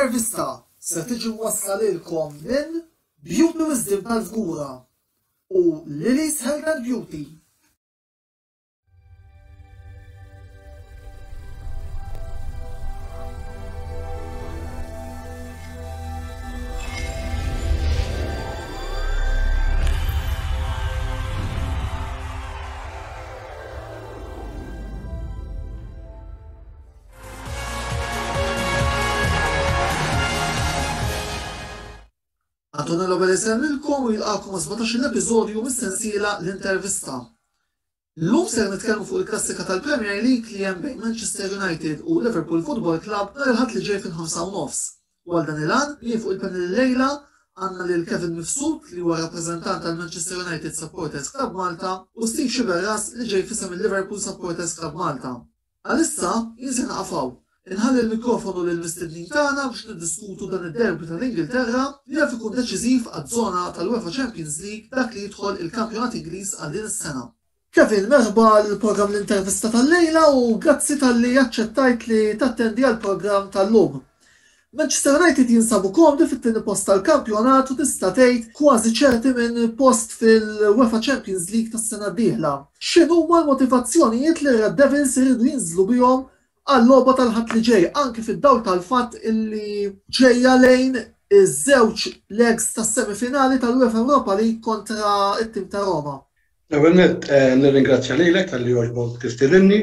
L-intervista ser tiġi mwassla lilkom minn Beauty Wisdom tal-Fgura u Lily's Health and Beauty. Antonello Belli lilkom u jilqakom għal 17 episodju mis-sensiela l-intervista. Llum ser nitkellmu fuq il-klassika tal-Premier League li hemm bejn Manchester United u Liverpool Football Club nhar il-Ħadd li ġej fil-5 u nofs. U għal dan il-għan, jien fuq il-panel illejla għandna lil Kevin Mifsud li huwa rappreżentant tal-Manchester United Supporters Club Malta u Steve Sciberras li ġej f'isem il-Liverpool Supporters Club Malta. Għalissa, jien se naqaf hawn. Inħalli l-mikrofonu lill-mistednin tagħna biex niddiskutu dan id-derby tal-Ingilterra li jaf ikun deċiżiv għaż-żona tal-UEFA Champions League dak li jidħol il-kampjonat Ingliż għal din is-sena. Kevin, merħba għall-programm L-Intervista tal-lejla u grazzi talli aċċettajt li tattendi għall-programm tal-lum. Manchester United jinsabu komdi fit-tieni post tal-kampjonat u tista' tgħid kważi ċerti minn post fil-UEFA Champions League tas-sena d-dieħla. X'inhuma l-motivazzjonijiet li r-Red Devils iridu jinżlu bihom għal-logħba tal-Ħadd li ġej anki fid-dawl tal-fatt illi ġejja lejn iż-żewġ legs tas-semifinali tal-UEFA Europa League kontra t-tim ta' Roma? L-ewwel nett nirringrazzja lilek talli għoġbok tistedinni.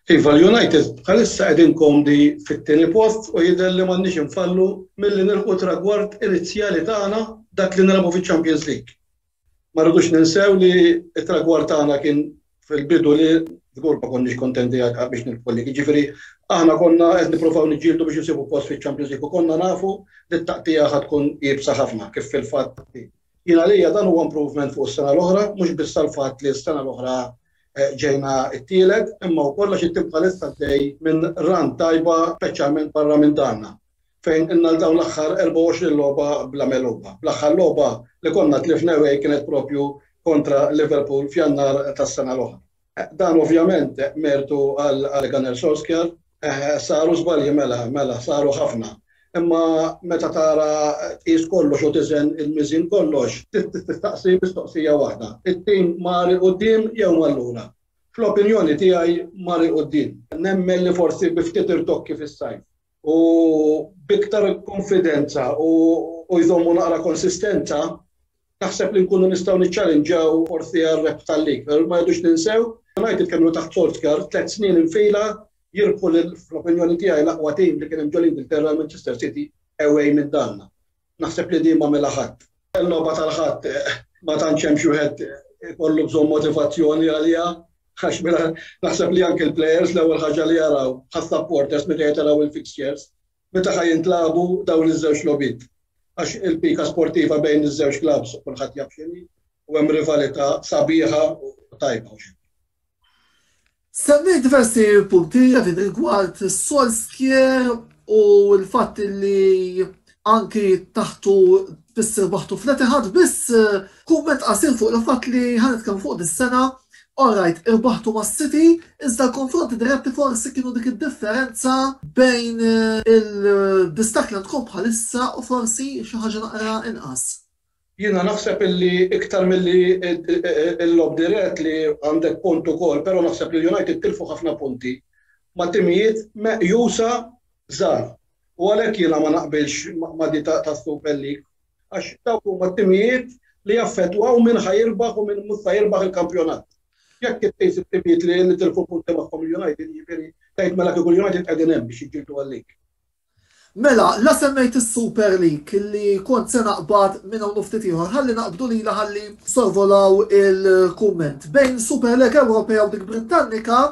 Iva l-United bħalissa qegħdin komdi fit-tieni post u jidher li m'għandniex infallu milli nilħqu tragward inizjali tagħna dak li nilagħbu fiċ-Champions League. Ma rridux ninsew li t-tragward tagħna kien fil-bidu li żgur ma konniex kontenti biex nilħqu l-league. Jiġifieri aħna konna qed nippruvaw niġġieldu biex insibu post fiċ-Champions League u konna nafu li t-taqtigħa ħa tkun iebsa ħafna kif fil-fatt Jien għalija dan huwa improvement fuq is-sena l-oħra, mhux biss għall-fatt li s-sena l-oħra eh, ġejna t-tielet, imma wkoll għax it-tim bħalissa għaddej minn run tajba speċjalment barra minn darna fejn inna l-dawn l-aħħar 24 logħba bla meluba. L-aħħar logħba li konna tlifna away kienet propju kontra Liverpool f'Jannar tas-sena l-oħra. Dan ovvjament mertu għal Ole Gunnar Solskjaer. Saru żbalji mela, mela, saru ħafna. Imma meta tara tqis kollox u tiżen il-miżien kollox, tistaqsi mistoqsija waħda. It-tim mar 'il quddiem jew mar lura? Fl-opinjoni tiegħi mar 'il quddiem. Nemmen li forsi bi ftit irtokki fis-sajf u b'iktar konfidenza u jżommu naqra konsistenza, naħseb li nkunu nistgħu niċċalinġaw forsi għar-rebħ tal-lig. Però ma rridux ninsew, United kienu taħt Solskjaer tliet snin infila jirbħu lil fl-opinjoni tiegħi l-aqwa tim li kien hemm ġol-Ingilterra l-Manchester City away minn darna. Naħseb li din m'għamilha ħadd. Il-logħba tal-Ħadd ma tantx hemm xi wieħed ikollu bżonn motivazzjoni għaliha għax mela naħseb li anke l-players l-ewwel ħaġa li jaraw bħas-supporters meta jaraw il-fixtures meta ħa jintlagħbu dawn iż-żewġ logħbiet. Għax il-pika sportiva bejn iż-żewġ klabbs kulħadd jaf x'inhi u hemm rivalità sabiħa u tajba u xejn. Semmejt diversi punti Kevin rigward Solskjaer u l-fatt li anki taħtu biss irbaħtu fl-Etihad biss kumment qasir fuq il-fatt li ħa nitkellmu fuq dis-sena Alright, irbaħtu ma' City, iżda l-konfronti diretti forsi kienu dik id-differenza bejn il-distakk li għandkom bħalissa u forsi xi ħaġa naqra inqas. Jiena naħseb illi iktar milli l-logħob dirett li għandek punt ukoll, però naħseb li l-United tilfu ħafna punti ma' timijiet meqjusa żgħar. U għalhekk jiena ma naqbilx ma' di tas-Super League għax dawk huma t-timijiet li jaffettwaw min ħa jirbaħ u min mhux sa jirbaħ il-kampjonat. Jekk itqis it-timijiet li tilfu punti magħhom il-United, jiġifieri tgħid mela kieku l-United qegħdin hemm biex jiġġieldu għal-league. Mela, la semmejt is-Super League li kont se naqbad minn hawn u ftit ieħor, ħalli naqbdu lilha ħalli sorvolaw il-kumment. Bejn Super League Ewropea u dik Brittannika,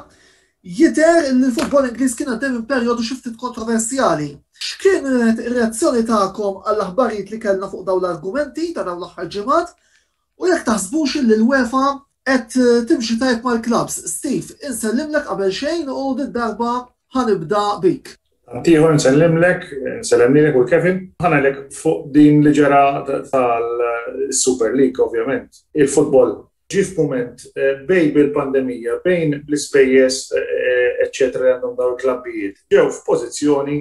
Jidher li l-futbol Ingliż kien għaddej minn perjodu xi ftit kontroversjali. X'kienet ir-reazzjoni tagħkom għall-aħbarijiet li kellna fuq dawn l-argumenti ta' dawn l-aħħar ġimgħat u jekk taħsbux li l-UEFA qed timxi tajjeb mal-klabbs? Steve, insellimlek qabel xejn u did-darba ħa nibda bik. Tant ieħor nsellimlek, nsellem lilek u l-Kevin. Ħa ngħidlek fuq din li ġara tal-Super League ovvjament. Il-futbol ġie f'mument bejn bil-pandemija, bejn l-ispejjeż eċċetera li għandhom dawn il-klabbijiet, ġew f'pożizzjoni.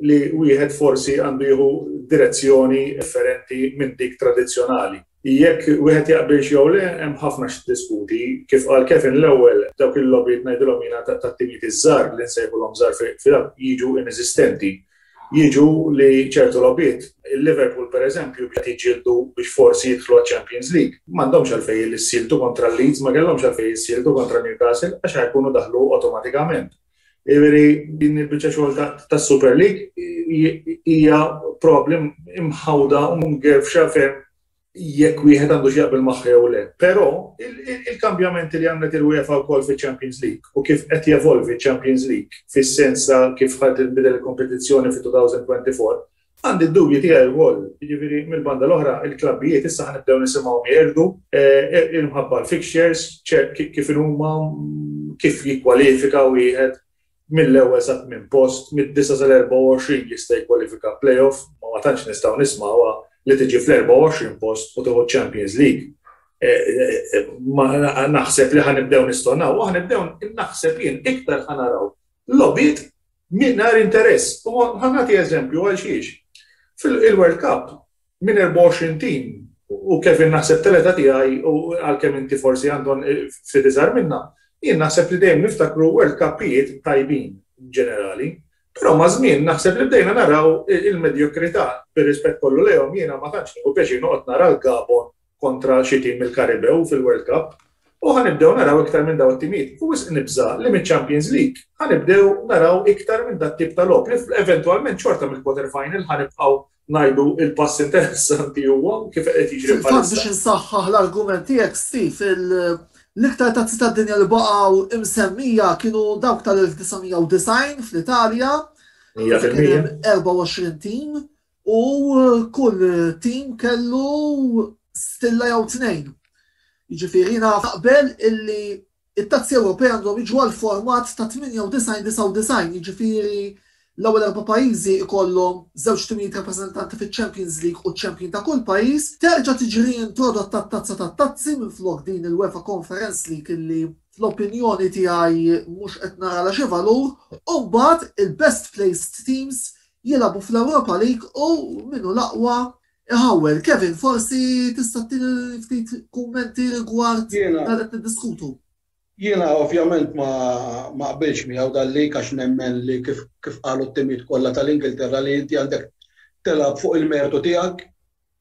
li wieħed forsi għandu jieħu direzzjoni differenti minn dik tradizzjonali. Jekk wieħed jaqbilx jew le, hemm ħafna x'tiddiskuti. Kif qal Kevin l-ewwel, dawk il-logħbiet ngħidilhom jiena tat-timijiet iż-żgħar li nsejħulhom żgħar fil jiġu ineżistenti. Jiġu li ċertu logħbiet, il-Liverpool pereżempju qed jiġġieldu biex forsi jidħlu għaċ-Champions League. M'għandhomx għalfejn jissieltu kontra l-Leeds, ma kellhomx għalfejn jissieltu kontra Newcastle għax ħa jkunu daħlu awtomatikament. Jiġifieri din il-biċċa xogħol tas-Super League hija probabbli imħawda u mgerfxa ferm jekk wieħed għandu x'jaqbel magħha jew le. Però il-kambjamenti li għamlet il-UEFA wkoll fiċ-Champions League u kif qed jevolvi ċ-Champions League fis-sens ta' kif ħa tinbidel il-kompetizzjoni fit-2024, Għandi d-dubji tiegħi wkoll, jiġifieri mill-banda l-oħra il-klabbijiet issa ħa nibdew nisimgħuhom jgħirdu imħabba l-fixtures, kif inhuma, kif jikkwalifika wieħed mill-ewwel sa tmien post, mid-disa' sal-24 jista' jikkwalifika play-off, ma ma tantx nistgħu nismgħuha li tiġi fl-24 post u tieħu ċ-Champions League. Ma naħseb li ħa nibdew nistonaw u ħa nibdew naħseb jien iktar ħa naraw logħbiet Mingħajr interess. U ħa nagħti eżempju għal xiex. Fil-World Cup, minn 24 tim, u Kevin naħseb tal-età tiegħi u għalkemm inti forsi għandhom ftit iżgħar minna, jien naħseb li dejjem niftakru World Cupijiet tajbin ġenerali. Però maż-żmien naħseb li bdejna naraw il-medjokrità, bir-rispett kollu lejhom jiena ma tantx nieħu pjaċir noqgħod nara l-Gabon kontra xi tim mill-Karibew fil-World Cup u ħa nibdew naraw iktar minn dawn it-timijiet. U wisq nibża' li miċ-Champions League ħa nibdew naraw iktar minn dat-tip ta' logħob li eventwalment xorta mill-quarter final ħa nibqgħu ngħidu il-pass interessanti huwa kif qed jiġri bħalissa. Fil-fatt biex insaħħaħ l-argument tiegħek Steve, l-iktar tazzi tad-dinja li baqgħu imsemmija kienu dawk tal-1990 fl-Italja. 100%. 24 tim U kull tim kellu stilla jew tnejn. Jiġifieri jiena naqbel illi it-tazzi Ewropej għandhom jiġu għal format ta' 98-99, jiġifieri l-ewwel erba' pajjiżi ikollhom żewġ timijiet rappreżentanti fiċ-Champions League u ċ-champion ta' kull pajjiż, terġa' tiġi riintrodotta t-Tazza tat-Tazzi minflok din il-UEFA Conference League illi fl-opinjoni tiegħi mhux qed naralha xi valur, u mbagħad il-best placed teams jilagħbu fl-Europa League u min hu l-aqwa iħawwel. Kevin, forsi tista' ttini ftit kummenti rigward dan qed niddiskutu. Jiena ovvjament ma ma qbilx miegħu dal-league għax nemmen li kif kif qalu t-timijiet kollha tal-Ingilterra li inti għandek tilgħab fuq il-mertu tiegħek,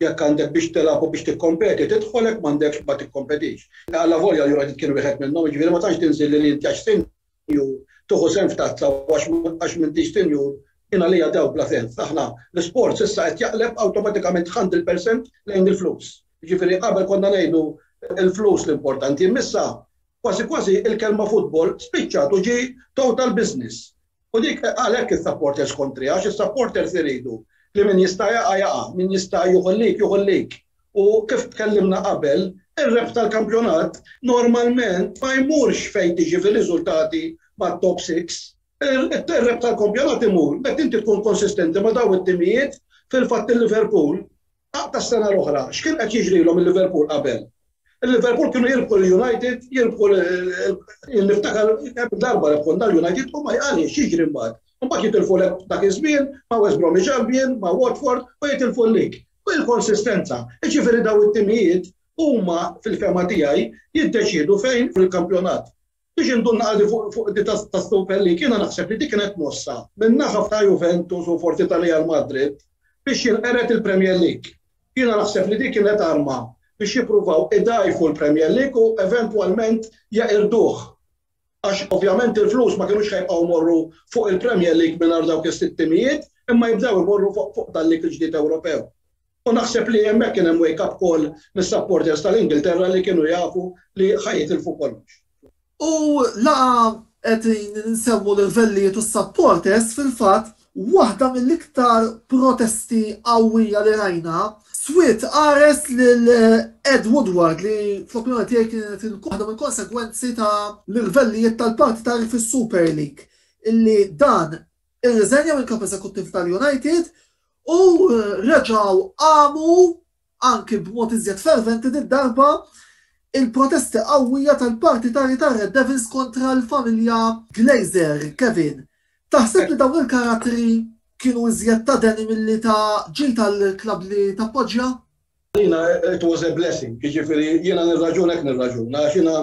jekk għandek biex tilgħab u biex tikkompeti tidħol jekk m'għandekx ma tikkompetix. Allavolja l-United kien wieħed minnhom, jiġifieri ma tantx tinżilli li inti għax sinjur tieħu sehem f'tazza u għax għax m'intix sinjur jien għalija dawk bla sens. Aħna l-isports issa qed jaqleb awtomatikament 100% lejn il-flus. Jiġifieri qabel konna ngħidu l-flus l-importanti, imma issa kważi kważi il-kelma futbol spiċċat u ġie total business. U dik għalhekk is-supporters kontriha għax is-supporters iridu li min jista' jaqa' jaqa', min jista' jieħu l-league jieħu l-league. U kif tkellimna qabel, ir-rebħ tal-kampjonat normalment ma jmurx fejn tiġi fir-riżultati mat-top 6. Ir-rebħ tal-kampjonat imur meta inti tkun konsistenti ma' dawn it-timijiet, fil-fatt il-Liverpool aqta' s-sena l-oħra, x'kien qed jiġrilhom il-Liverpool qabel? Il-Liverpool kienu jirbħu l-United, jirbħu niftakar kemm darba rebħulna l-United u ma għaliex x'jiġri mbagħad? Mbagħad jitilfulek dak iż-żmien ma' West Bromwich Albion, ma' Watford u jitilfu l-league. U il-konsistenza. Jiġifieri dawn it-timijiet huma fil-fehma tiegħi jiddeċiedu fejn fil-kampjonat. Biex indur naqra fuq di tas-Super League, jiena naħseb li dik kienet mossa min-naħa ta' Juventus u forsi ta' Real Madrid biex jinqered il-Premier League. Jiena naħseb li dik kienet arma biex jippruvaw idgħajfu l-Premier League u eventwalment jeqirduh. Għax ovvjament il-flus ma kinux ħa jibqgħu jmorru fuq il-Premier League mingħajr dawk is-sitt timijiet imma jibdew imorru fuq dal-league il-ġdid Ewropew. U naħseb li hemmhekk kien hemm wake up call mis-supporters tal-Ingilterra li kienu jafu li ħa jitilfu kollox. U la qegħdin insemmu l-irvellijiet u s-supporters, fil-fatt waħda mill-iktar protesti qawwija li rajna swiet qares lil Ed Woodward li fl-opinjoni tiegħi kienet waħda mill-konsegwenzi ta' l-irvellijiet tal-partitarji fis-Super League illi dan irriżenja minn kap eżekuttiv tal-United u reġgħu qamu anki b'mod iżjed ferventi did-darba il-protesti qawwija tal-partitarji tar-Red Devils kontra l-familja Glazer. Kevin, taħseb li dawn il-karattri kienu iżjed ta' deni milli ta' ġid għall-klabb li tappoġġja? Għalina it was a blessing, jiġifieri jiena nirraġuna hekk nirraġuna għax jiena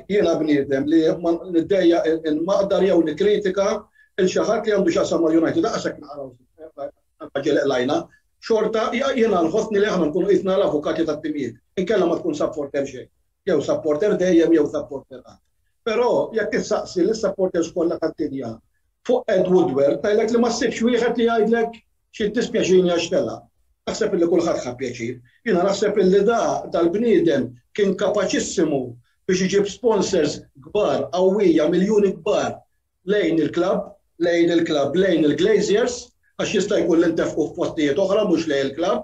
jiena bniedem li ma niddejjaq inmaqdar jew nikkritika 'l xi ħadd li għandu x'jaqsam mal-United lanqas hekk naqraw ġieli qlajna, xorta jiena nħossni li aħna nkunu qisna l-avukati tat-timijiet, inkella ma tkun supporter xejn. Jew supporter dejjem jew supporter qatt. Però jekk issaqsi lis-supporters kollha tad-dinja fuq Ed Woodward tgħidlek li ma ssibx wieħed li jgħidlek xi ddispjaċini għax telaq. Naħseb illi kulħadd ħa pjaċir. Jiena naħseb illi da dal-bniedem kien kapaċissimu biex iġib sponsors kbar, qawwija, miljuni kbar lejn il-klabb, lejn il-klabb, lejn il-Glaziers, għax jista' jkun li ntefqu f'postijiet oħra mhux lejn il-klabb.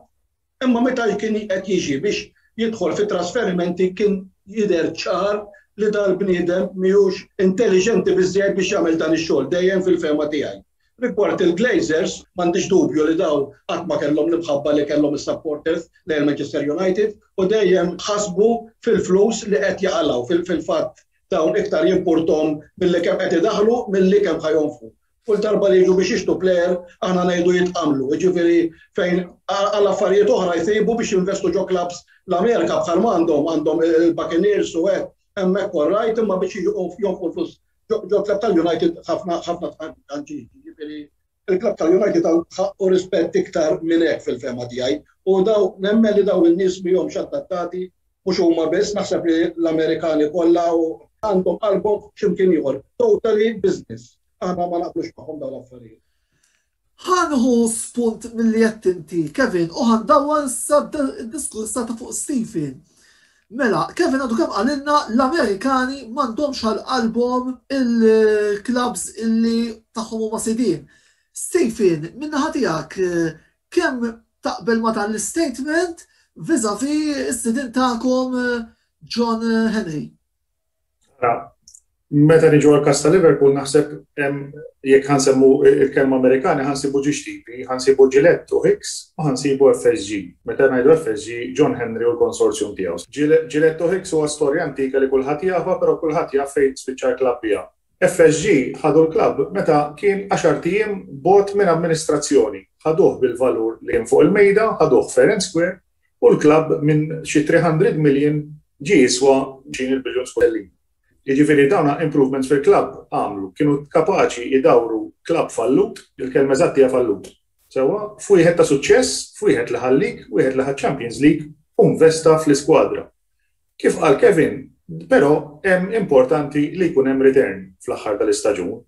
Imma meta kien qed jiġi biex jidħol fit-trasferimenti kien jidher ċar li dal-bniedem mhijiex intelliġenti biżżejjed biex jagħmel dan ix-xogħol, dejjem fil-fehma tiegħi. Rigward il-Glazers, m'għandix dubju li dawn qatt ma kellhom l-imħabba li kellhom is-supporters lejn Manchester United u dejjem ħasbu fil-flus li qed jaqalgħu. Fil-fatt dawn iktar jimpurthom milli kemm qed idaħħlu milli kemm ħa jonfqu. Kull darba li jiġu biex jixtru plejer aħna ngħidu jitqamlu, jiġifieri fejn għal affarijiet oħra jsibu biex jinvestu ġo clubs l-Amerika bħal ma għandhom, għandhom il-Buccaneers u hekk, hemmhekk all right, imma biex jonfqu l-flus ġo club tal-United ħafna ħafna tħanġiġ, jiġifieri il-club tal-United ħaqqu rispett iktar minn hekk fil-fehma tiegħi u daw nemmen li daw in-nies mihomx adattati mhux huma biss, naħseb li l-Amerikani kollha u għandhom qalbhom x'imkien ieħor. Totally business. Aħna ma naqblux magħhom dawn l-affarijiet. Ħa nieħu spunt milli għedt inti, Kevin, u ħa ndawwar issa d-diskors ta' fuq Stephen. Mela, Kevin għadu kemm qalilna l-Amerikani m'għandhomx għal qalbhom il-clubs illi tagħhom huma sidien. Stephen, min-naħa tiegħek, kemm taqbel ma' dan l-istatement vis-a-vis is-sidien tagħkom John Henry? Ara, meta niġu għal każ ta' Liverpool naħseb jekk ħansemmu il-kelma Amerikani ħansibu ġiex tipi, ħansibu Gillette u Hicks u ħansibu FSG. Meta ngħidu FSG, John Henry u l-konsorzjum tiegħu. Gillette u Hicks huwa storja antika li kulħadd jafha, però kulħadd jaf fejn spiċċa l-klabb biha. FSG ħadu l-klabb meta kien għaxart ijiem bogħod minn amministrazzjoni. Ħaduh bil-valur li kien fuq il-mejda, ħaduh fair and square, u l-klabb minn xi 300 million ġie jiswa xi il-biljun sterlin. Jiġifieri dawn improvements fil-klabb għamlu, kienu kapaċi jdawru klabb fallut, il-kelma eżatt hija fallut, sewwa, f'wieħed ta' suċċess, f'wieħed li ħa l-league, wieħed li ħa ċ-Champions League u nvesta fl-iskwadra. Kif qal Kevin, però hemm importanti li jkun hemm return fl-aħħar tal-istaġun.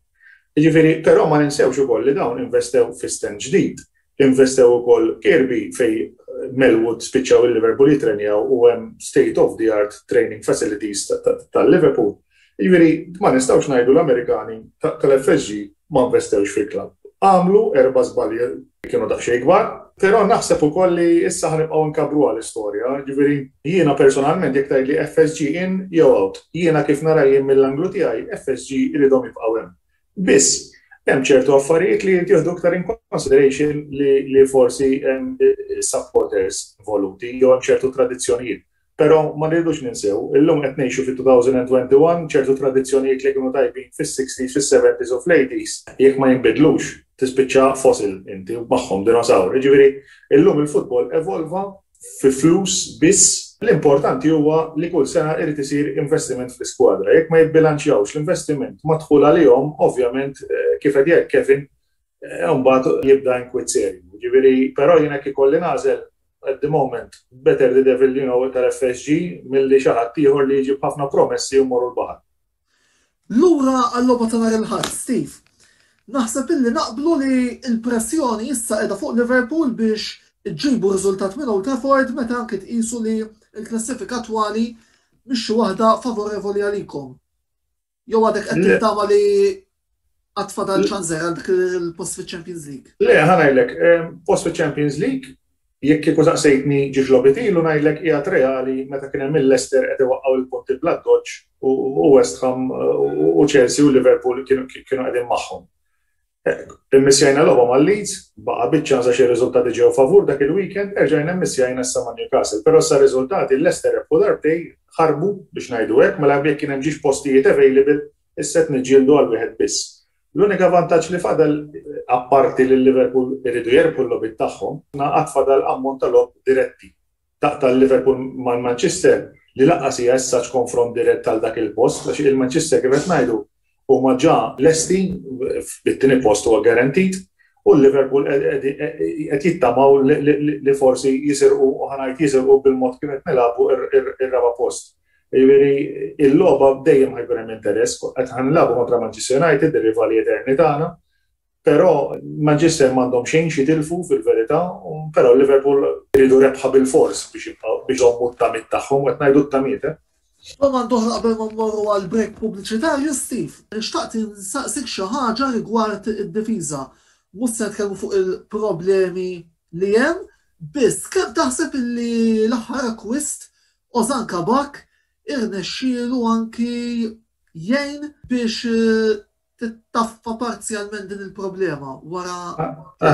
Jiġifieri, però ma ninsewx ukoll li dawn investew fi stand ġdid, investew ukoll Kirkby fejn Melwood spiċċaw il-Liverpool jitrenjaw u hemm state of the art training facilities tal-Liverpool. Jiġifieri, ma nistgħux ngħidu l-Amerikani tal-FSG ma investewx fil-klabb. Għamlu erba' żbalji kienu daqsxejn kbar, però naħseb ukoll li issa ħa nibqgħu nkabbruha l-istorja, jiġifieri jiena personalment jekk tgħidli FSG in jew out, jiena kif nara jien mill-anglu tiegħi FSG iridhom jibqgħu hemm. Biss, hemm ċertu affarijiet li jrid jieħdu iktar in consideration li, li forsi hemm supporters involuti jew hemm ċertu tradizzjonijiet. Però ma rridux ninsew, illum qed ngħixu fit-2021 ċertu tradizzjonijiet li kienu tajbin fis-60s, fis-70s u fl-80s, jekk ma jinbidlux, tispiċċa fossil inti u magħhom dinosaur. Jiġifieri illum il-futbol evolva fi flus biss, l-importanti huwa li kull sena irid isir investiment fl-iskwadra. Jekk ma jibbilanċjawx l-investiment mad-dħul għalihom, ovvjament kif qed jgħid Kevin, mbagħad jibda inkwiet serju. Jiġifieri, però jiena jekk ikolli nagħżel at the moment, better the devil you know tal-FSG milli xi ħadd ieħor li jiġi b'ħafna promessi u mmorru l-baħar. Lura għal-logħba ta' nhar il-Ħadd, Steve. Naħseb illi naqblu li l-pressjoni issa qiegħda fuq Liverpool biex iġibu riżultat minn Old Trafford meta anki tqisu li l-klassifika attwali mhix xi waħda favorevoli għalikom. Jew għadek qed tittama li għad fadal ċans għal dak il-post fiċ-Champions League? Le, ħa ngħidlek, post fiċ-Champions League, jekk kieku saqsejtni ġiex logħbiet ilu ngħidlek qiegħed reali meta kien hemm il-Leicester qed iwaqqgħu il-punti bl-addoċċ u West Ham u Chelsea u Liverpool kienu qegħdin magħhom. Immissjajna logħba ma' Leeds, baqa' biċ-ċans għax ir-riżultati ġew favur dak il-weekend, erġajna mmissjajna issa ma' Newcastle. Però issa r-riżultati Leicester rebħu darbtejn, ħarbu biex ngħidu hekk, mela jekk kien hemm ġiex postijiet available, issa qed niġġieldu għal wieħed biss. L-unika vantaġġ li fadal, apparti li Liverpool iridu jerbħu l-logħbiet tagħhom, għad fadal ammont ta' logħob diretti. Taqta' l-Liverpool mal-Manchester li lanqas hija as such konfront dirett għal dak il-post għax il-Manchester kif qed ngħidu huma ġa lesti bit-tieni post huwa guaranteed u l-Liverpool qed jittamaw li forsi jisirqu u ħa ngħid jisirqu bil-mod kif qed nilagħbu ir-raba' post. Jiġifieri il-logħba dejjem ħa jkun hemm interess, qed ħa nilagħbu kontra Manchester United, ir-rivali eterni tagħna, però Manchester m'għandhom xejn x'jitilfu fil-verità, però Liverpool iridu rebħa bilfors biex jibqgħu biex iżommu t-tamiet tagħhom, qed ngħidu t-tamiet, eh. Domanda oħra qabel ma mmorru għal break pubbliċitarju, Steve. Xtaqt insaqsik xi ħaġa rigward id-difiża. Mhux se nitkellmu fuq il-problemi li hemm, biss kemm taħseb illi l-aħħar akkwist Ozan Kabak irnexxielu anki jgħin biex tittaffa parzjalment din il-problema wara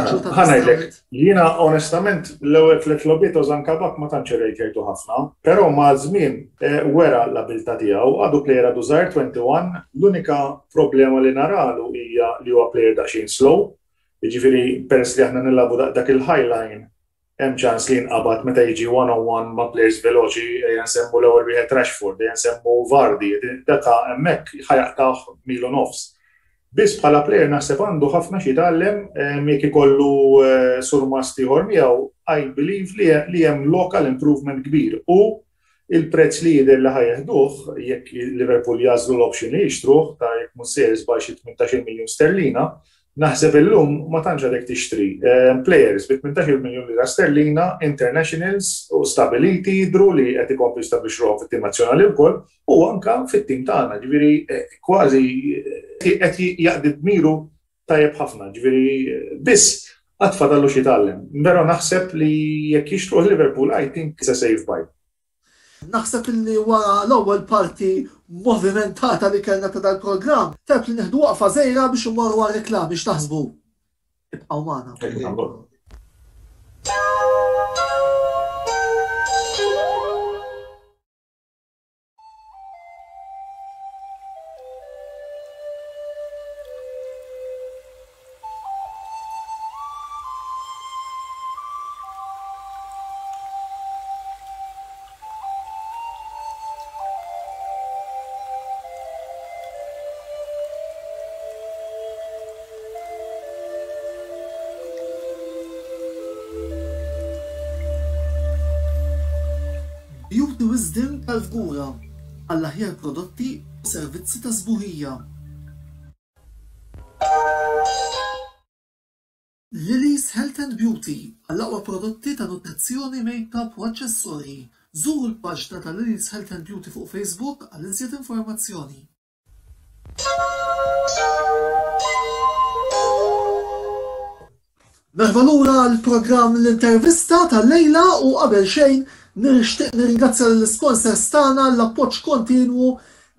ġuta Ħa ngħidlek, jiena onestament l-ewwel tliet logħbiet Ozan Kabak ma tantx irrejtjajtu ħafna, però maż-żmien wera l-abilità tiegħu, għadu plejer għadu żgħir 21, l-unika problema li naralu hija li huwa plejer daqsxejn slow, jiġifieri peress li aħna nilagħbu dak il-high line hemm ċans li jinqabad meta jiġi one on one ma' players veloċi, ejja nsemmu l-ewwel wieħed Rashford, ejja nsemmu Vardy, daka hemmhekk ħa jaqtgħuh mil u nofs. Biss bħala player naħseb għandu ħafna x'jitgħallem jekk ikollu surmast ieħor miegħu, I believe li hemm lok għal improvement kbir u il-prezz li jidher li ħa jeħduh jekk Liverpool jagħżlu l-option li jixtruh ta' jekk mhux sejjer żball xi 18-il miljun sterlina, naħseb illum ma tantx għadek tixtri players bi 18-il miljun lira sterlina, internationals u stabiliti jidhru li qed ikomplu jistabbilixxu ruħhom fit-tim nazzjonali wkoll u anke fit-tim tagħna, ġifieri kważi qed jaqdi dmiru tajjeb ħafna, ġifieri biss għad fadallu x'jitgħallem. Però naħseb li jekk jixtruh Liverpool I think it's a safe buy. Naħseb illi wara l-ewwel parti movimentata li kellna ta' dal-programm, tajjeb li nieħdu waqfa żgħira biex immorru għar-reklami, x'taħsbu? Ibqgħu magħna. Beauty Wisdom tal-Fgura għall-aħjar prodotti u servizzi ta' sbuħija. Lily's Health and Beauty għall-aqwa prodotti ta' nutrizzjoni, makeup u aċċessorji. Żuru l-paġna ta' Lily's Health and Beauty fuq Facebook għal iżjed informazzjoni. Merħba lura għall-programm L-Intervista tal-lejla u qabel xejn nixtieq nirringrazzja lill-isponsors tagħna għall-appoġġ kontinwu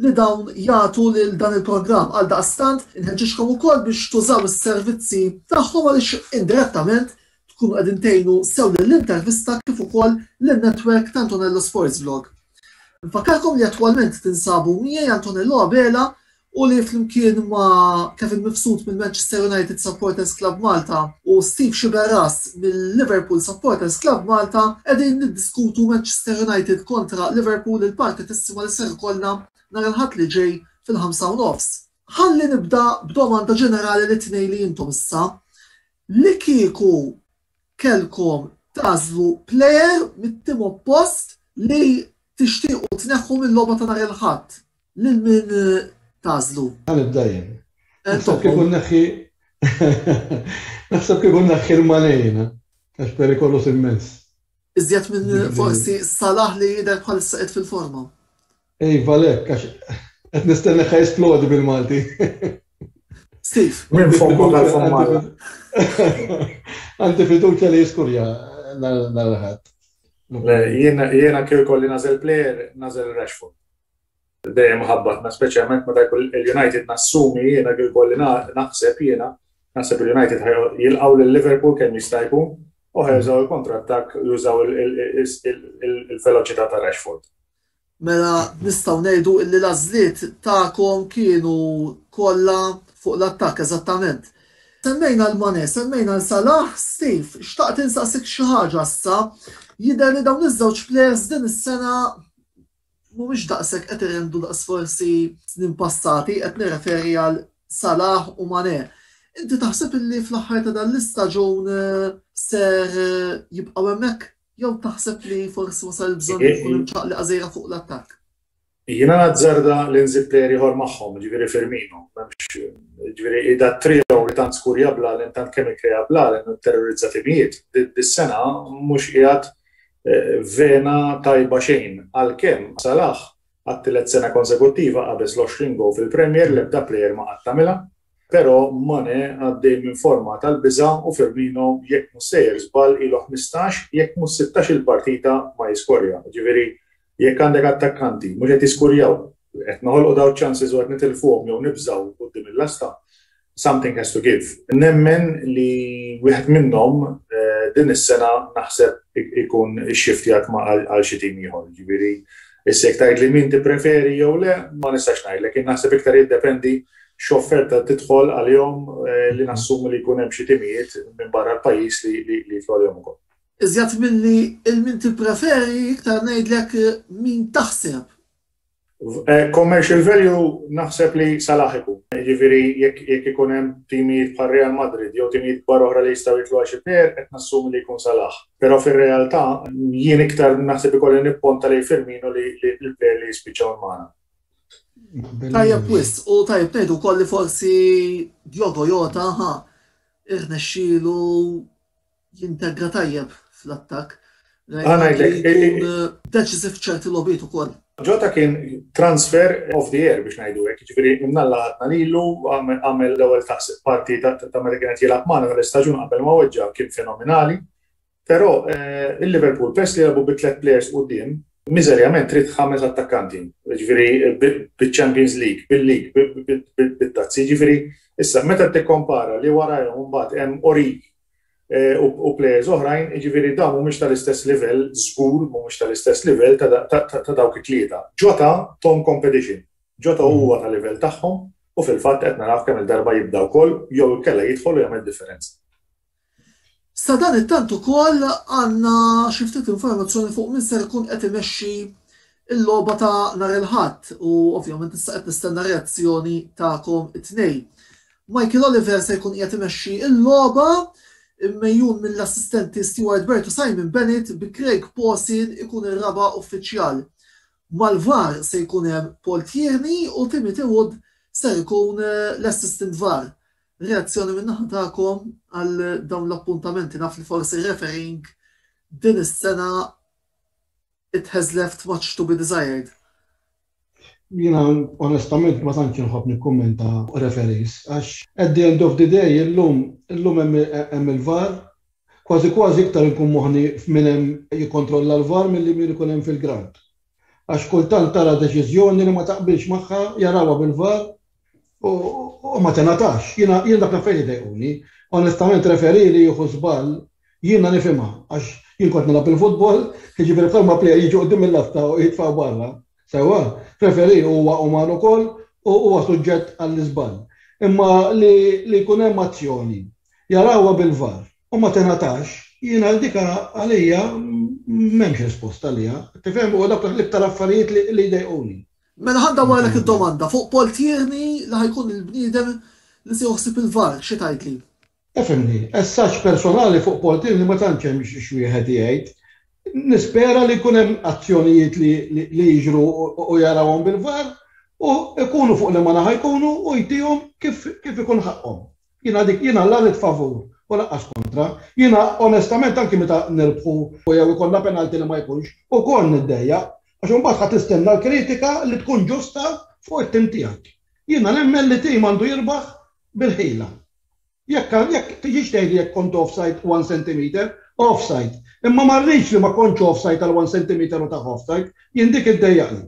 li dawn jagħtu lil dan il-programm. Għaldaqstant inħeġġiġkom ukoll biex tużaw is-servizzi tagħhom għaliex indirettament tkunu qegħdin tgħinu sew lill-intervista kif ukoll lin-network ta' Antonello Sports Vlog. Nfakkarkom li attwalment tinsabu miegħi Antonello Abela u li flimkien ma' Kevin Mifsud mill-Manchester United Supporters Club Malta u Steve Sciberras mill-Liverpool Supporters Club Malta qegħdin niddiskutu Manchester United kontra Liverpool il-partitissima li ser ikollna nhar il-Ħadd li ġej fil-5 u nofs. Ħalli nibda b'domanda ġenerali lit-tnejn li intom issa. Li kieku kellkom tagħżlu plejer mit-tim oppost li tixtiequ tneħħu mil-logħba ta' nhar il-Ħadd, lil min tagħżlu? Ħa nibda jien. Naħseb kieku nneħħi Naħseb kieku nneħħi l-Mane jiena, għax perikoluż immens. Iżjed minn forsi Salah li jidher bħalissa qed fil-forma. Iva lek, għax qed nistenna ħa jisplodi bil-Malti. Steve. Minn fommu tal-fomma. Għandi fiduċja li jiskurja nhar il-Ħadd. Jiena kieku jkolli nagħżel player, nagħżel Rashford. Dejjem ħabbatna, speċjalment meta jkun il-United nassumi jiena kieku jkolli naħseb jiena, naħseb il-United jilqgħu lil Liverpool kemm jista' jkun u ħa jużaw il-kontrattakk jużaw il-veloċità ta' Rashford. Mela nistgħu ngħidu illi l-għażliet tagħkom kienu kollha Fuq l-attakk, eżattament. Semmejna l-Mane, semmejna l-Salah, Steve, xtaqt insaqsik xi ħaġa issa. Jidher li dawn iż-żewġ players din is-sena mhumiex daqshekk qed irendu daqs forsi snin passati, qed nirreferi għal Salah u Mane. Inti taħseb illi fl-aħħar ta' dan l-istaġun eh, ser eh, jibqgħu hemmhekk jew taħseb li forsi wasal il-bżonn li tkun imċaqliqa żgħira fuq l-attakk? Jiena nazzarda li nżid plejer ieħor magħhom, jiġifieri Firmino. M'hemmx, jiġifieri da trio li tant skurja blalen, tant kemm ikkrea blalen u terrorizza timijiet, dis-sena mhux qiegħed eh, vena tajba xejn. Għalkemm Salah għat-tielet sena konsekuttiva qabeż l-20 goal fil-Premier l-ebda plejer ma qatt għamilha. Però Mane għaddej minn forma tal-biża' u Firmino jekk mhux sejjer żball ilu 15 jekk mhux 16 il-partita ma jiskorja. Jiġifieri Jekk għandek attakkanti mhux qed jiskurjaw, qed noħolqu dawn iċ-chances u qed nitilfuhom jew nibżgħu quddiem il-lasta, something has to give. Nemmen li wieħed minnhom din is-sena naħseb ikun ixxiftjat għal xi tim ieħor. Jiġifieri issa jekk tgħidli min tippreferi jew le, ma nistax ngħidlek. Jien naħseb iktar jiddependi x'offerta tidħol għalihom li nassumi li jkun hemm xi timijiet minn barra l-pajjiż li jidħlu għalihom ukoll. Iżjed milli il-min tippreferi, iktar ngħidlek min taħseb. Eh, commercial value naħseb li Salah ikun. Jiġifieri jekk ikun hemm timijiet bħal Real Madrid jew timijiet kbar oħra li jistgħu jitlu għal xi player qed nassumi li jkun Salah. Però fir-realtà jien iktar naħseb ikolli nipponta lejn Firmino li l-player li jispiċċaw magħna. Tajjeb wisq, u tajjeb ngħidu wkoll li forsi Diogo Jota ha irnexxielu jintegra tajjeb fl-attakk. Ngħidlek deċiżiv ċerti logħbiet ukoll. Jota kien transfer of the year biex ngħidu hekk, jiġifieri imnalla ħadna lilu, għamel l-ewwel parti ta' meta kien qed jilgħab magħna tal-istaġun qabel ma weġġa' kien fenomenali. Però eh, il-Liverpool peress li jilagħbu bi tliet players quddiem, miżerjament trid ħames attakkanti, jiġifieri biċ-Champions League, bil-League, bit-tazzi, jiġifieri issa meta tikkompara li warajhom imbagħad hemm Origi Eh, u players oħrajn, jiġifieri dawn mhumiex tal-istess livell, żgur mhumiex tal-istess livell ta' dawk it-tlieta. Jota tom competition. Jota mhm. huwa ta' livell tagħhom u fil-fatt qed naraw kemm il-darba jibda wkoll jew inkella jidħol u jagħmel differenza. Sa dan it-tant ukoll għandna xi ftit informazzjoni fuq min ser ikun qed imexxi il-logħba ta' nhar il-Ħadd u ovvjament issa qed nistenna reazzjoni tagħkom it-tnejn. Michael Oliver se jkun qiegħed imexxi l-logħba immejjun mill-assistenti Stuart Burt u Simon Bennett bi Craig Pawson ikun ir-raba' uffiċjal. Mal-VAR se jkun hemm Paul Tierney u Timothy Wood ser ikun l-assistant VAR. Reazzjoni min-naħa tagħkom għal dawn l-appuntamenti naf li forsi refereeing din is-sena it has left much to be desired. Jiena onestament ma tantx inħobb nikkummenta fuq referees għax at the end of the day illum illum hemm il-VAR, kważi kważi iktar inkun moħħni f'min hemm jikkontrolla l-VAR milli min ikun hemm fil-ground. Għax kultant tara deċiżjoni li ma taqbilx magħha jarawha bil-VAR u ma tingħatax. Jiena jien dak l-affarijiet idejquni. Onestament referee li jieħu żball jiena nifhimha għax jien kont nilgħab il-futbol, jiġifieri bħalma plejer jiġi quddiem il-lasta u jitfgħu barra. Sewwa, referee huwa uman ukoll u huwa suġġett għall-iżball. Imma li li jkun hemm azzjoni jarawha bil-VAR u ma tingħatax, jien għal dik għalija m'hemmx risposta għaliha. Tifhem? U dawk l-iktar affarijiet li jdejquni. Mela ħa ndawwarlek id-domanda fuq Paul Tierney li ħa jkun il-bniedem li se joħsib il-VAR, xi tgħidli? Ifhimni, as such personali fuq Paul Tierney ma tantx hemm x'wieħed jgħid. Nispera li jkun hemm azzjonijiet li li jiġru u jarawhom bil-VAR u jkunu fuq liema naħa jkunu u jtihom kif kif ikun ħaqqhom. Jiena dik jiena la rrid favur u lanqas kontra. Jiena onestament anki meta nirbħu jew ikollna penalty li ma jkunx, ukoll niddejjaq għax imbagħad ħa tistenna l-kritika li tkun ġusta fuq it-tim tiegħek. Jiena nemmen li tim għandu jirbaħ bil-ħila. Jekk jekk tiġix tgħidli jekk kont offside one centimeter, offside. Imma ma rridx li ma kontx offside għal one centimeter u tah offside, jien dik iddejjaqni.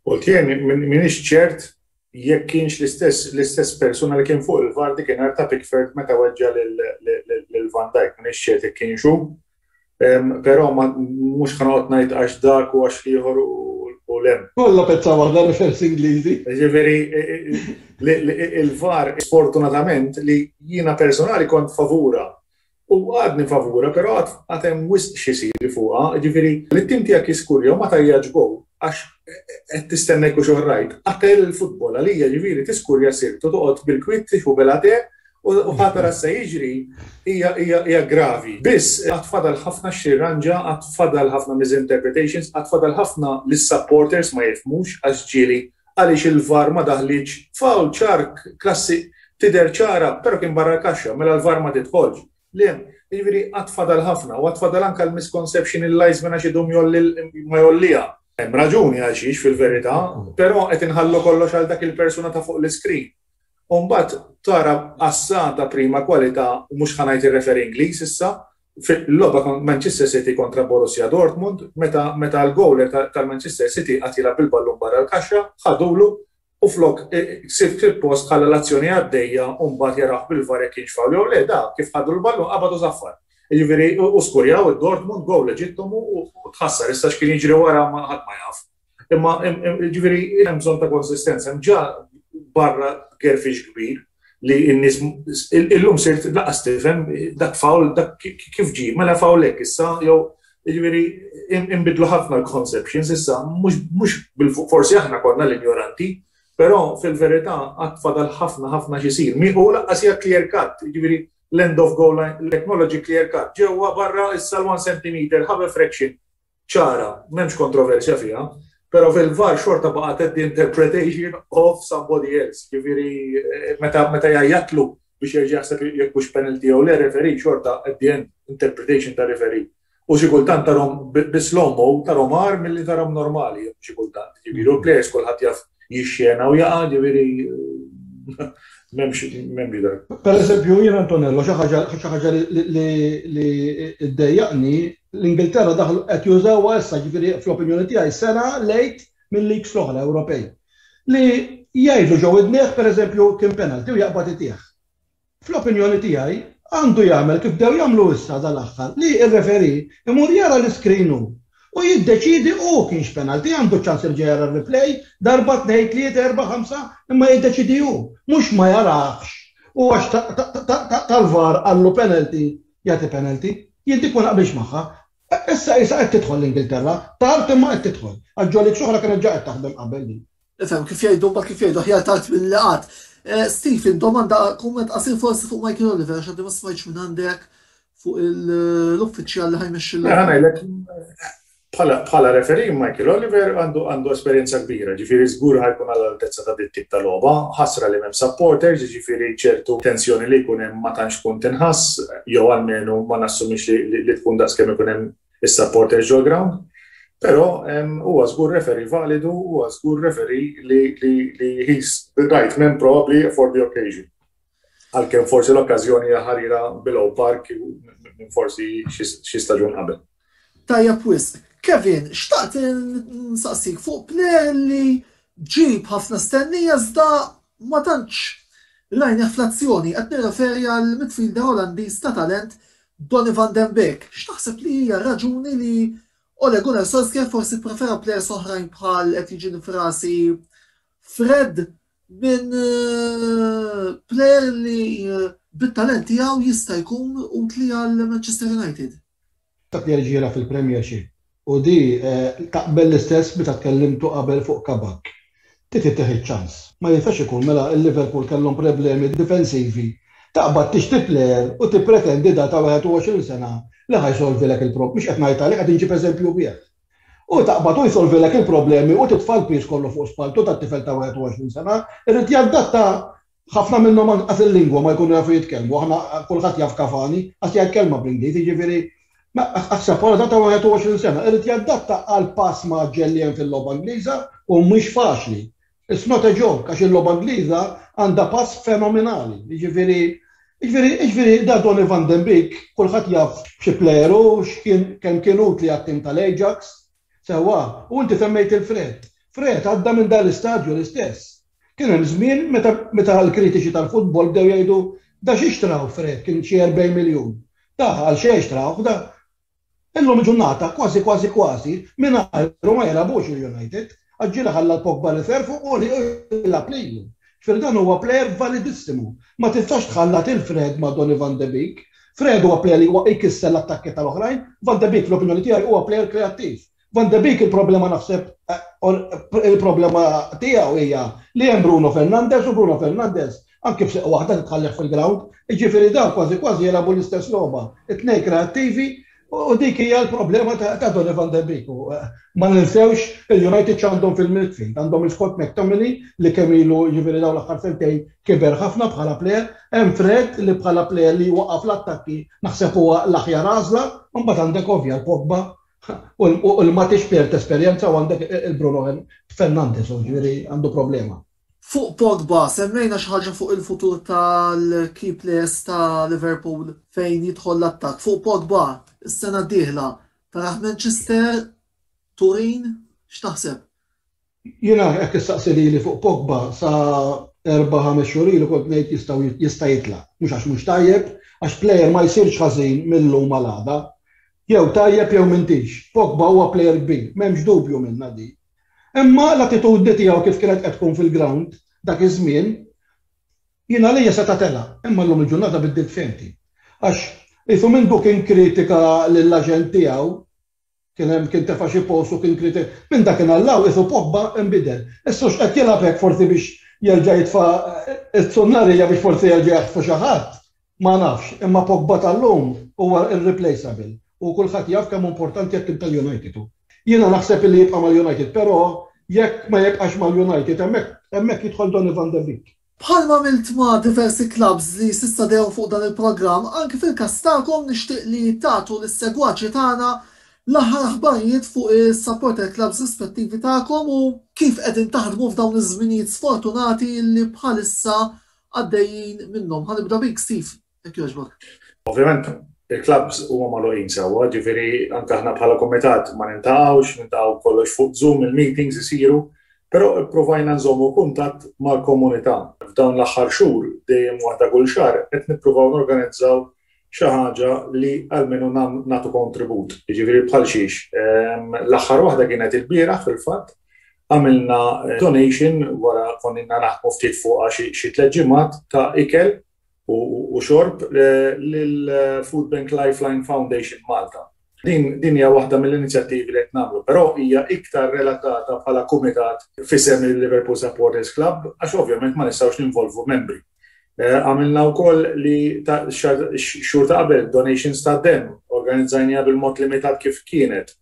Qult jien m'iniex ċert jekk kienx l-istess l-istess persuna li kien fuq il-VAR dikinhar ta' Pickford meta weġġa' lil Van Dijk, m'iniex ċert jekk kienx hu. Però mhux ħa noqgħod ngħid għax dak u għax l-ieħor u u 'l hemm. Kollha pezza waħda referees Ingliżi. Jiġifieri il-VAR sfortunatament li jiena personali kont favura u għadni favura però għad hemm wisq x'isir fuqha, jiġifieri li t-tim tiegħek jiskurja u ma tgħajjatx goal għax qed tistenna jekk hux all right. Qatel il-futbol għalija jiġifieri tiskurja sirt u toqgħod bil-kwiet tieħu bela te U ħa tara x'se jiġri hija hija gravi. Biss għad fadal ħafna x'tirranġa, għad fadal ħafna misinterpretations, għad fadal ħafna li s-supporters ma jifhmux għax ġieli għaliex il-VAR ma daħlitx, foul ċar klassi tidher ċara però kien barra l-kaxxa, mela l-VAR ma tidħolx. Le, jiġifieri għad fadal ħafna u għad fadal anke l-misconception il-linesman għax idum jgħolli ma jgħolliha. Hemm raġuni għalxiex fil-verità, però qed inħallu kollox għal dak il-persuna ta' fuq l-iscreen. U mbagħad tara qassata prima kwalità u mhux ħa ngħid ir-referee Ingliż issa, fil-logħba Manchester City kontra Borussia Dortmund, meta meta l-gowler tal-Manchester City qagħad jilgħab bil-ballun barra l-kaxxa, ħadulu u flok fil-post ħalla l-azzjoni għaddejja u mbagħad jarah bil-VAR jekk kienx foul jew le, da kif ħadu l-ballun qabad u saffar. Jiġifieri u skurjaw id-Dortmund gowl leġittimu u tħassar issa x'kien jiġri wara ma ħadd ma jaf. Imma ġifieri hemm bżonn ta' konsistenza, hemm ġa barra gerfix kbir li n-nies illum sirt laqas tifhem dak fawl dak kif ġie, mela fawl hekk issa jew ġifieri inbidlu ħafna l-conceptions issa mhux forsi aħna konna l-injoranti, però fil-verità għad fadal ħafna ħafna x'isir. U laqqas hija clear cut, ġifieri l-end of goal line, technology clear cut, ġewwa barra issa l-1 centimeter, have a fraction. ċara, m'hemmx kontroversja fiha, però fil-VAR xorta baqgħet at the interpretation of somebody else. Ġifieri eh, meta meta jgħajjatlu biex jerġa' jaħseb jekk hux penalty jew le referee xorta at the end interpretation ta' referee. U xi kultant tarhom bi slow-mo tarhom agħar milli tarhom normali xi kultant. Ġifieri u l-players kulħadd jaf jixxena u jaqa' ġifieri m'hemmx m'hemmx dak. Per eżempju, jien Antonello xi ħaġa xi ħaġa li ddejjaqni l-Ingilterra daħlu qed jużawha issa ġifieri fl-opinjoni tiegħi sena lejt mill-leagues l-oħra Ewropej. Li jgħidlu ġo widnejh pereżempju kien penalty u jaqbad itih. Fl-opinjoni tiegħi, għandu jagħmel kif bdew jagħmlu issa dal-aħħar, li r-referee imur jara l-iscreen hu u jiddeċiedi hu kienx penalty, għandu ċ-ċans jerġa' jara r-replay darba, tnejn, tlieta, erbgħa, ħamsa, imma jiddeċiedi hu, mhux ma jarahx u għax tal-VAR qallu penalty jagħti penalty. Jien dik ma naqbilx magħha. Issa qisha qed tidħol l-Ingilterra, tard imma qed tidħol, għax ġo leagues oħra kienet ġa qed taħdem qabel din. Ifhem, kif jgħidu, mbagħad kif jgħidu aħjar tard milli qatt. Eh, Stephen, domanda kumment qasir forsi fuq Michael Oliver għax għaddi ma smajtx minn għandek fuq l-uffiċjal li ħajmexxi l Ngħidlek bħala referee Michael Oliver għandu għandu esperjenza kbira, ġifieri żgur ħajkun għall altezza ta' dit tip ta' logħba, ħasra li m'hemm supporters, ġifieri ċertu tensjoni li jkun hemm ma tantx tkun tinħass, jew almenu ma nassumix li tkun daqskemm ikun hemm is-supporters ġol-ground. Però huwa żgur referee validu, huwa żgur referee li li he's the right man probably for the occasion. Għalkemm forsi l-okkażjoni hija ħarira below park minn forsi xi staġun qabel. Tajjeb wisq. Kevin, xtaqt nsaqsik fuq player li ġib ħafna stennija iżda ma tantx rajnih fl-azzjoni, qed nirreferi għal midfielder Olandiż ta' talent Donny van den Beek, x'taħseb li hija r-raġuni li Ole Gunnar Solskjaer forsi pprefera plejers oħrajn bħal qed jiġini f'rasi Fred minn eh, plejer li eh, bit-talent tiegħu jista' jkun utli għal Manchester United? Dak li jerġa' jilgħab fil-Premiership U di taqbel l-istess meta tkellimtu qabel fuq Kabak. Trid ittih iċ-ċans. Ma jistax ikun mela l-Liverpool kellhom problemi difensivi, taqbad tixtri plejer u tippretendi da ta' 21 sena li ħa jsolvilek il-prob mhux qed ngħid għalih qed inġib eżempju bih. U taqbad u jsolvilek il-problemi u titfa' l-piż kollu fuq spalltu ta' tifel ta' 21 sena, irid jadatta Ħafna minnhom anqas il-lingwa ma jkunu jafu jitkellmu, aħna kulħadd jaf Cavani, qas jgħid kelma bl-Ingliż, jiġifieri aħseb wara ta' 21 sena, irid jadatta għal pass mgħaġġel li hemm fil-logħba Ingliża u mhix faċli. It's not a joke għax il-logħba Ingliża għandha pass fenomenali. Jiġifieri jiġifieri jiġifieri da Donny van den Beek kulħadd jaf xi plejer hu, x'kien kemm kien utli għat-tim tal-Ajax, Sewwa, u inti semmejt il-Fred. Fred għadda minn dan l-istadju l-istess. Kien hemm żmien meta meta l-kritiċi tal-futbol bdew jgħidu da xi xtraw Fred kien xi 40 miljun. Da għal xejn xtrawh da. Illum il-ġurnata kważi kważi kważi mingħajru ma jilagħbux il-United. Għax ġieli ħalla l-Pogba reserve u jilgħab lilu. Ġifieri dan huwa plejer validissimu. Ma tistax tħallat il-Fred ma' Donny van de Beek. Fred huwa plejer li huwa jkisser l-attakki tal-oħrajn, Van de Beek fl-opinjoni tiegħi huwa plejer kreattiv. Van de Beek il-problema naħseb il-problema tiegħu hija li hemm Bruno Fernandes u Bruno Fernandes anke b'seq waħda titħallih fil-ground, jiġifieri dawn kważi kważi jilagħbu l-istess logħba, it-tnejn kreattivi u dik hija l-problema ta' Donny van de Beek. U ma ninsewx il-United x'għandhom fil-midfield, għandhom il-Scott McTominay li kemm ilu jiġifieri dawn l-aħħar sentejn kiber ħafna bħala plejer, hemm Fred li bħala plejer li jwaqqaf l-attakki naħseb huwa l-aħjar għażla, u mbagħad għandek ovvja l-Pogba u l-Matic plejer t'esperjenza u għandek il-Bruno Fernandes, jiġifieri għandu problema. Fuq Pogba, semmejna xi ħaġa fuq il-futur tal-key players ta' Liverpool fejn jidħol l-attakk. Fuq Pogba, is-sena d-dieħla, tarah Manchester, Turin, x'taħseb? Jiena jekk issaqsi lili fuq Pogba sa erba' ħames xhur ilu kont ngħid jistgħu jista' jitlaq. Mhux għax mhux tajjeb, għax plejer ma jsirx ħażin mil-lum għal għada. Jew tajjeb jew m'intix. Pogba huwa plejer kbir, m'hemmx dubju minnha di. Imma l-attitudni tiegħu kif kienet qed tkun fil-grawnd dak iż-żmien, jien għalija seta' telaq, imma llum il-ġurnata biddilt fehmti. Għax qisu mindu kien kritika lill-aġent tiegħu, kien hemm kien tefa' xi post u kien kritika, minn dakinhar 'l hawn qisu Pogba nbidel. Issa hux qed jilgħab hekk forsi biex jerġa' jitfa' t-tsunnarija biex forsi jerġa' jaħtfu xi ħadd, Ma nafx, imma Pogba tal-lum huwa irreplaceable u kulħadd jaf kemm hu importanti għat-tim tal-United hu. Jiena naħseb illi jibqa' mal-United però jekk ma jibqax mal-United hemmhekk hemmhekk jidħol Donny van de Beek. Bħalma għamilt ma' diversi clubs li s'issa dehru fuq dan il-programm, anki fil-każ tagħkom nixtieq li tagħtu lis-segwaċi tagħna l-aħħar aħbarijiet fuq is-supporter clubs rispettivi tagħkom u kif qegħdin taħdmu f'dawn iż-żminijiet sfortunati li bħalissa għaddejjin minnhom. Ħa nibda bik Steve, jekk jogħġbok. Ovvjament il-clubs huma magħluqin sewwa, ġifieri anke aħna bħala kumitat ma nintaqgħux, nintaqgħu kollox fuq Zoom, il-meetings isiru, però pprovajna nżommu kuntatt mal-komunità. F'dawn l-aħħar xhur, dejjem waħda kull xahar, qed nippruvaw norganizzaw xi ħaġa li almenu nagħtu kontribut. Jiġifieri bħal xiex. L-aħħar waħda kienet ilbieraħ fil-fatt, għamilna eh, donation wara konna naħdmu ftit fuqha xi tliet ġimgħat ta' ikel u xorb eh, lil Food Bank Lifeline Foundation Malta. Din din hija waħda mill-inizjattivi li qed nagħmlu, però hija iktar relatata bħala kumitat f'isem il-Liverpool Supporters Club għax ovvjament ma nistgħux ninvolvu membri. Eh, għamilna wkoll li xhur ta' qabel donations ta' demm, organizzajniha bil-mod limitat kif kienet.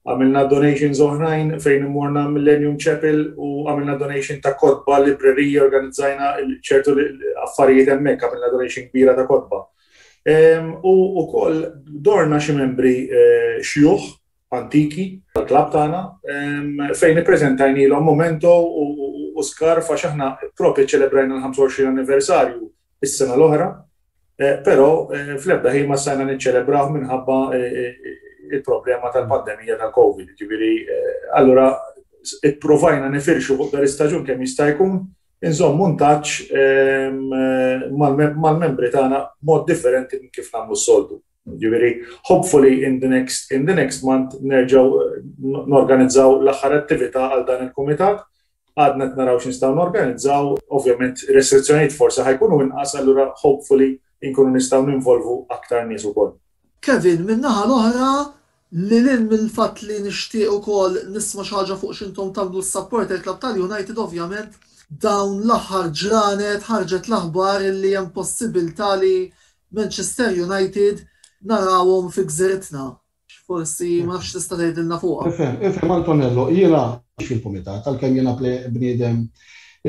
Għamilna donations oħrajn fejn imorna Millennium Chapel u għamilna donation ta' kotba, librerija, organizzajna ċertu affarijiet hemmhekk, għamilna donation kbira ta' kotba. U wkoll dorna xi membri eh, xjuħ antiki tal-klabb tagħna fejn ippreżentajnielhom momento u skarf għax aħna propju ċelebrajna l-25 anniversarju is-sena l-oħra, eh, però eh, fl-ebda ħin ma stajna niċċelebraw minħabba eh, il-problema tal-pandemija tal-Covid. Ġifieri, allura ipprovajna nifirxu fuq dar istaġun kemm jista' jkun, inżommu ntaċ mal-membri tagħna mod differenti minn kif nagħmlu s-soltu. Ġifieri, hopefully in the next in the next month nerġgħu eh, norganizzaw l-aħħar attività għal dan il-kumitat. Għadna qed naraw x'nistgħu norganizzaw, ovvjament restrizzjonijiet forsi ħajkunu inqas, allura hopefully inkunu nistgħu ninvolvu aktar nies ukoll. Kevin, min-naħa l-oħra, lil hinn mill-fatt li nixtieq ukoll nisma' xi ħaġa fuq x'intom tagħmlu s-supporter club tal-United ovvjament, dawn l-aħħar ġranet ħarġet l-aħbar li hemm possibilità li Manchester United narawhom fi gżiritna. Forsi ma nafx tista' tgħidilna fuqha. Ifhem, ifhem Antonello, jiena mhux fil-kumitat, għalkemm jiena bniedem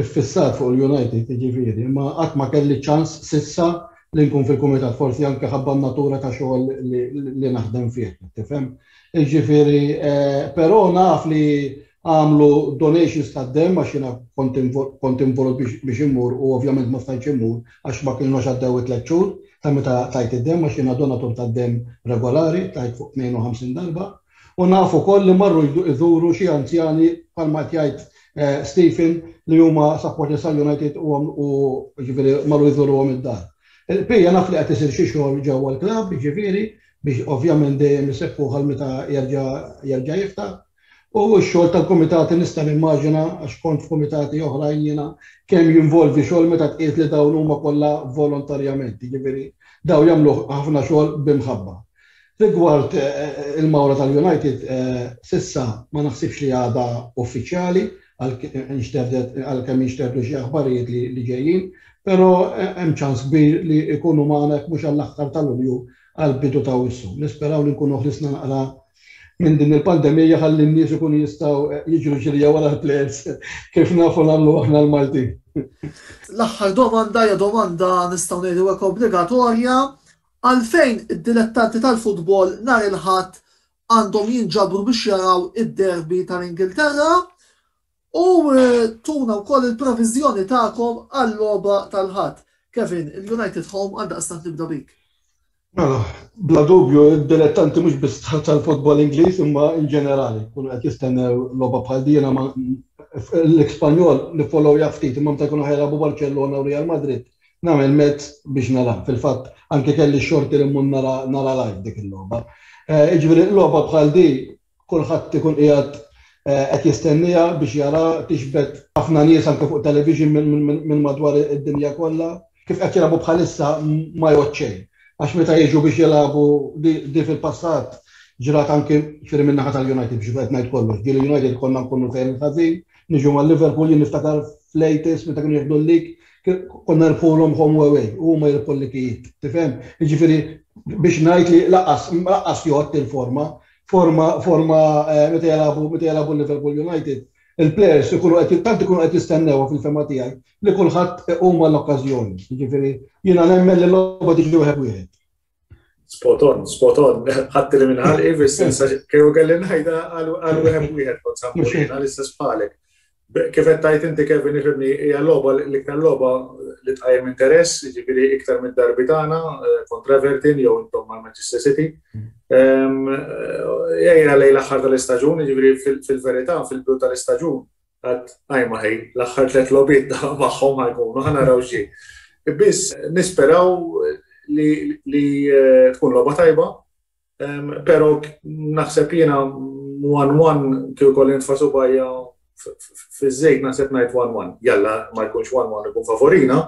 iffissat fuq il-United, jiġifieri, imma qatt ma kelli ċans s'issa li nkun fil-kumitat, forsi anke ħabba n-natura ta' xogħol li naħdem fih, tifhem? Jiġifieri, però naf li għamlu donations tad-demm għax jiena kont involut biex immur u ovvjament ma stajtx immur għax ma kienux għaddew it-tliet xhur ta' meta tajt id-demm għax jiena donatur tad-demm regolari, tajt fuq 52 darba. U naf ukoll li marru jżuru xi anzjani bħalma qed jgħid eh, Stephen li huma supporters tal-United u ġifieri marru jżuruhom id-dar. Il-qbija naf li qed isir xi xogħol ġewwa l-klabb, ġifieri, biex ovvjament dejjem iseħħu għal meta jerġa' jerġa' jiftaħ. U x-xogħol tal-kumitati nista' nimmaġina għax kont f'kumitati oħrajn jiena kemm jinvolvi xogħol meta tqies li dawn huma kollha volontarjament, jiġifieri dawn jagħmlu ħafna xogħol bi mħabba. Rigward il-mawra tal-United s'issa ma naħsibx li għadha uffiċjali għalkemm inxterdu xi aħbarijiet li ġejjin, però hemm ċans kbir li jkunu magħna jekk mhux għall-aħħar ta' Lulju għall-bidu ta' Awwissu. Nisperaw li nkunu ħlisna naqra minn din il-pandemija ħalli n-nies ikunu jistgħu jiġru ġirja wara l-plejers kif nafu nagħmlu aħna l-Maltin. L-aħħar domanda hija domanda nistgħu ngħidu hekk obbligatorja, għalfejn id-dilettanti tal-futbol nhar il-Ħadd għandhom jinġabru biex jaraw id-derby tal-Ingilterra u tuna wkoll il-previżjoni tagħkom għal-logħba tal-Ħadd. Kevin, il-United Home għaldaqstant nibda bik. Mela, bla dubju, id-dilettanti mhux biss tal-futbol Ingliż imma in ġenerali, kunu qed jistennew logħba bħal din ma l-Ispanjol nifollowja ftit imma meta jkunu ħajlabu Barcellona u Real Madrid nagħmel mezz biex nara. Fil-fatt anke kelli x-xorti li mmur nara nara live dik il-logħba. Eh, jiġifieri logħba bħal di kulħadd ikun qiegħed eh, qed jistenniha biex jara tixbet ħafna nies anke fuq television minn madwar id-dinja kollha. Kif qed jilagħbu bħalissa ma jgħod xejn. Għax meta jiġu biex jilagħbu di fil-passat ġrat anke ġifieri min-naħa tal-United biex qed ngħid kollox. Ġieli United konna nkunu sejrin ħażin, niġu mal Liverpool jien niftakar fl-80s meta kienu jieħdu l-lig, konna nirbħulhom home away u huma jirbħu l-likijiet. Tifhem? Jiġifieri biex ngħid li laqqas laqqas jgħodd il-forma, forma forma eh, meta jilagħbu meta jilagħbu Liverpool United, il-players ikunu qed tant ikunu qed jistennewha fil-fema tiegħi li kulħadd huma l-okkażjoni. Jiġifieri jiena nemmen li l-logħba tiġi wieħed wieħed. Spot on, spot on. Ħadd li minn ħalqi fis-sens kieku kelli ngħidha għal wieħed wieħed kont sammur l-istess bħalek. Kif qed tgħid inti Kevin ifhimni hija logħba l-iktar logħba li tqajjem interess, jiġifieri iktar mid-darbi tagħna eh, kontra Everton jew intom mal Manchester City. Ehm, eh, ejja lejn l-aħħar tal-istaġun, jiġifieri fil-verità fil-bidu tal-istaġun Għad għajma ħej, l-aħħar tlet logħbiet magħhom ħajkunu, ħa naraw x'ġej. Biss nisperaw li, li eh, tkun logħba tajba, però naħseb jiena 1-1 kieku kolli nitfa' subajja fiż-żejt naħseb ngħid 1-1. Jalla ma jkunx 1-1 ikun favorina,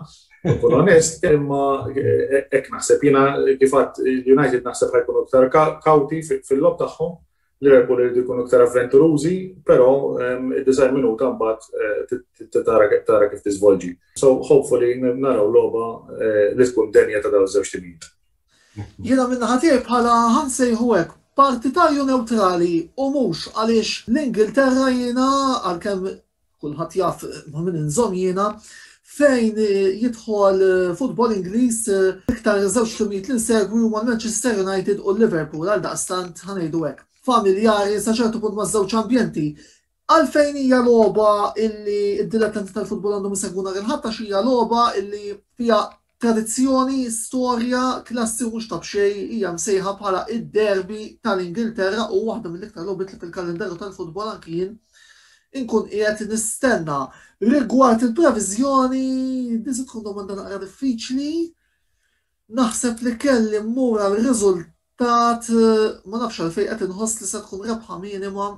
nkun onest, imma eh, hekk naħseb jiena kif United naħseb ħajkunu iktar kawti fil-lob tagħhom Liverpool iridu jkunu iktar avventurużi, però ehm, id-design minuta mbagħad eh, tara kif tiżvolġi. So hopefully naraw logħba eh, li tkun denja ta' dawn iż-żewġ timijiet. Jiena minn naħa tiegħi bħala ħansejħu hekk partitarju neutrali u mhux għaliex l-Ingilterra jiena għalkemm kulħadd jaf ma' min inżomm jiena, fejn jidħol futbol Ingliż l-iktar żewġ timijiet li nsegwi huma l-Manchester United u l-Liverpool għaldaqstant ħa ngħidu hekk. Familjari sa ċertu punt maż-żewġ ambjenti. Għalfejn hija logħba illi d-dilettanti tal-futbol għandhom isegwu nhar il-Ħadd għax hija logħba illi fiha Tradizzjoni, storja, klassi u mhux ta' b'xejn hija msejħa bħala id-derby tal-Ingilterra u waħda mill-iktar logħbiet li fil-kalendarju tal-futbol anki jien inkun qiegħed nistenna. Rigward il-previżjoni, din se tkun domanda naqra diffiċli. Naħseb li kelli mmur għal riżultat ma nafx għalfejn qed inħoss li se tkun rebħa minima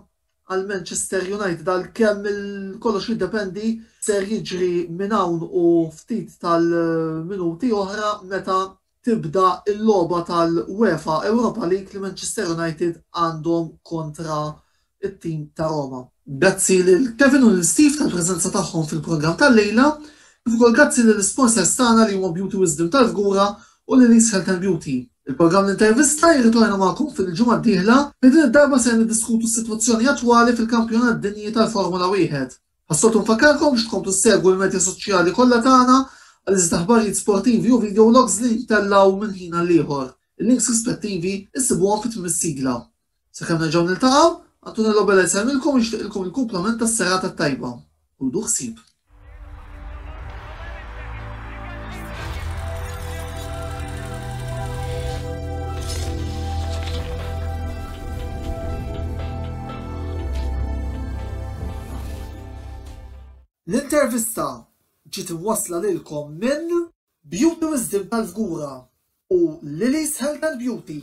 għal Manchester United għalkemm kollox jiddependi ser jiġri minn hawn u ftit tal-minuti oħra meta tibda l-logħba tal-UEFA Europa League li Manchester United għandhom kontra t-tim ta' Roma. Grazzi lil Kevin u lil Steve tal-preżenza tagħhom fil-programm tal-lejla, kif ukoll grazzi lill-isponsors tagħna li huma Beauty Wisdom tal-Fgura u Lily's Health and Beauty. Il-programm L-Intervista jirritorna magħkom fil-ġimgħa d-dieħla fejn din id-darba ser niddiskutu s-sitwazzjoni attwali fil-Kampjonat Dinji tal-Formula Wieħed. Bħas-soltu nfakkarkom biex tkomplu ssegwu l-medja soċjali kollha tagħna għal iżjed aħbarijiet sportivi u video logs li ntellgħu minn ħin għal ieħor. Il-links rispettivi issibuhom fi tmiem is-sigla. Sakemm nerġgħu niltaqgħu, Antonello Bella jsellmilkom u jixtieqilkom il-kumplament tas-serata t-tajba. Ħudu ħsieb. L-intervista ġiet imwassla lilkom minn Beauty Wisdom tal-Fgura u Lily's Health and Beauty.